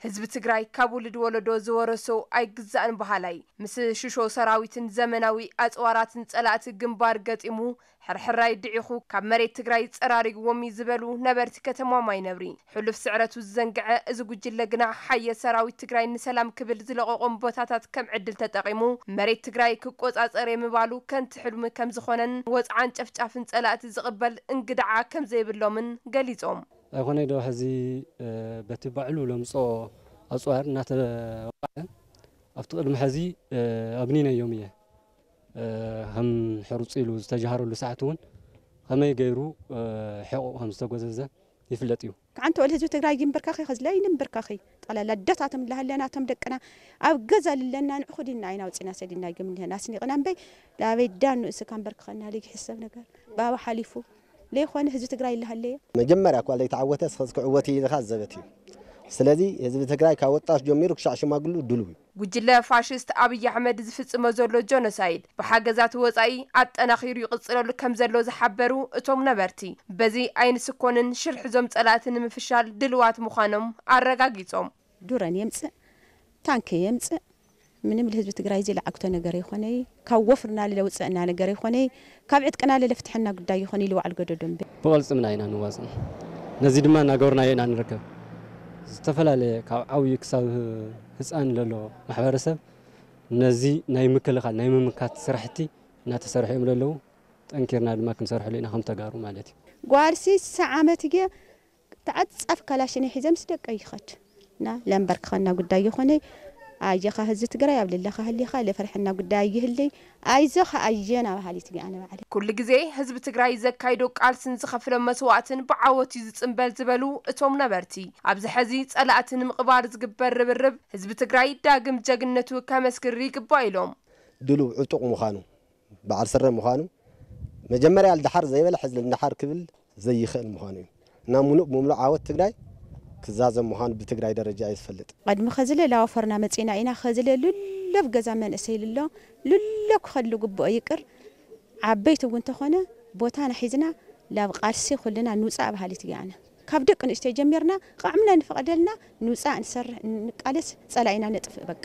ህዝቢ ትግራይ ካብ ውሉድ ወለዶ ዝወረሶ ኣይግዛእን በሃላይ፣ ምስ ሽሾ ሰራዊትን ዘመናዊ ኣፅዋራትን ፀላእቲ ግንባር ገጢሙ ሕርሕራይ ድዒኹ ካብ መሬት ትግራይ ፀራሪግዎም እዩ ዝበሉ ነበርቲ ከተማ ማይነብሪ፣ ሕሉፍ ስዕረቱ ዝዘንግዐ እዚ ጉጅለ ግና ሓየት ሰራዊት ትግራይ ንሰላም ክብል ዝለቐቖም ቦታታት ከም ዕድል ተጠቒሙ መሬት ትግራይ ክቆፃፀር የምባሉ ከንቲ ሕልሚ ከም ዝኾነን ወፅዓን ጨፍጫፍን ፀላእቲ ዝቕበል እንግድዓ ከም ዘይብሎምን ገሊፆም። ኣይኮነይ ዶ ሕዚ በቲ ባዕሉ ለምፅኦ ኣፅዋር እናተወቃዐ ኣብቲ ቅድሚ ሕዚ ኣብኒነዮም እየ። ከም ሕሩፅ ኢሉ ዝተጀሃረሉ ሰዓት እውን ከመይ ገይሩ ሕቑ ከም ዝተጎዘዘ ይፍለጥ እዩ። ከዓንተ ወል ህዝቢ ትግራይ ይንብርካኺ ከዝለ ይንብርካኺ ጠላላ ደታቶም ላሃለና ቶም ደቅና ኣብ ገዛ ልለና ንዕኹ ዲና ኣይና ውፅና ሰዲና ግምንህና ኣስኒቕና እምበይ ላበይ ዳኑ እስካ ንበርክኸና ልግ ሕሰብ ነገር ባባ ሓሊፉ ለይኾነ ህዝቢ ትግራይ ይልሃለየ። መጀመርያ እኳ ለይተዓወተ እስኸ ክዕወት እዩ ኢልካ ዘበት እዩ። ስለዚ ህዝቢ ትግራይ ካብ ወጣት ጀሚሩ ክሻዕ ሽማግሉ ድሉው እዩ። ጉጅለ ፋሽስት ኣብይ ኣሕመድ ዝፍጽሞ ዘሎ ጆኖሳይድ ብሓገዛት ወጻኢ ኣጠናኺሩ ይቕጽለሉ ከም ዘሎ ዝሓበሩ እቶም ነበርቲ፣ በዚ ኣይንስኮንን ሽርሒ ዞም ጸላእቲ ንምፍሻል ድልዋት ምዃኖም ኣረጋጊጾም። ዱረን የምጽእ፣ ታንክ የምጽእ፣ ምንም ልህዝቢ ትግራይ እዚ ለዓግቶ ነገር ይኾነይ፣ ካብ ወፍርና ለውፅእና ነገር ይኾነይ፣ ካብ ዕጥቅና ለለፍትሐና ጉዳይ ይኾነይ ልዋዕል ገደዶ እምበር። ብቐልፅምና ኢና ንዋፅእ። ነዚ ድማ እናገበርናዮ ኢና ንርከብ። ዝተፈላለየ ካብ ዓብዪ ክሳብ ህፃን ለሎ ማሕበረሰብ ነዚ ናይ ምክልኻል ናይ ምምካት ስራሕቲ እናተሰርሑ እዮም ለለዉ። ጠንኪርና ድማ ክንሰርሐሉ ኢና ከም ተጋሩ ማለት እዩ። ጓል ሲሳ ዓመት እየ ተዓጻፍ ካላሽን ሒዘ ምስ ደቀይ ይኸድ እና ለምበርክኸና ጉዳይ ይኾነይ። ኣየኻ ህዝቢ ትግራይ ኣብ ልለኻ ህሊኻ ለፈርሐና ጉዳይ ይህልይ። ኣይዞኻ ኣየና በሃሊት እየ ኣነ ባዕለይ። ኩሉ ግዜ ህዝቢ ትግራይ ዘካይዶ ቃልስን ዝኸፍሎ መስዋእትን ብዓወት እዩ ዝጽንበል ዝበሉ እቶም ነበርቲ፣ ኣብዚ ሕዚ ጸላእቲ ንምቕባር ዝግበር ርብርብ ህዝቢ ትግራይ ዳግም ጀግንነቱ ከመስክር ይግባእ ኢሎም። ድሉው ዕጡቕ ምዃኑ በዓል ስረ ምዃኑ መጀመርያ ልድሓር ዘይበለ ሕዚ ልንድሓር ክብል ዘይኽእል ምዃኑ እዩ። እና ሙሉእ ብምሉእ ዓወት ትግራይ ክዛዘም ምዃኑ ብትግራይ ደረጃ እየ ዝፈልጥ። ቀድሚ ኸዝለ ላወፈርና መጺና ኢና። ኸዝለ ልሎ ኣብ ገዛ መንእሰይ ልሎ ልሎ ክኸሉ ግብኦ ይቅር ዓበይቲ እውን ተኾነ ቦታና ሒዝና ላብ ቃልሲ ኩልና ንውፃእ በሃሊት እየ ኣነ። ካብ ደቂ ኣንስትዮ ጀሚርና ቃዕምና ንፈቐደልና ንውፃእ ንሰርሕ ንቃለስ ጸላኢና ነጥፍእ በቃ።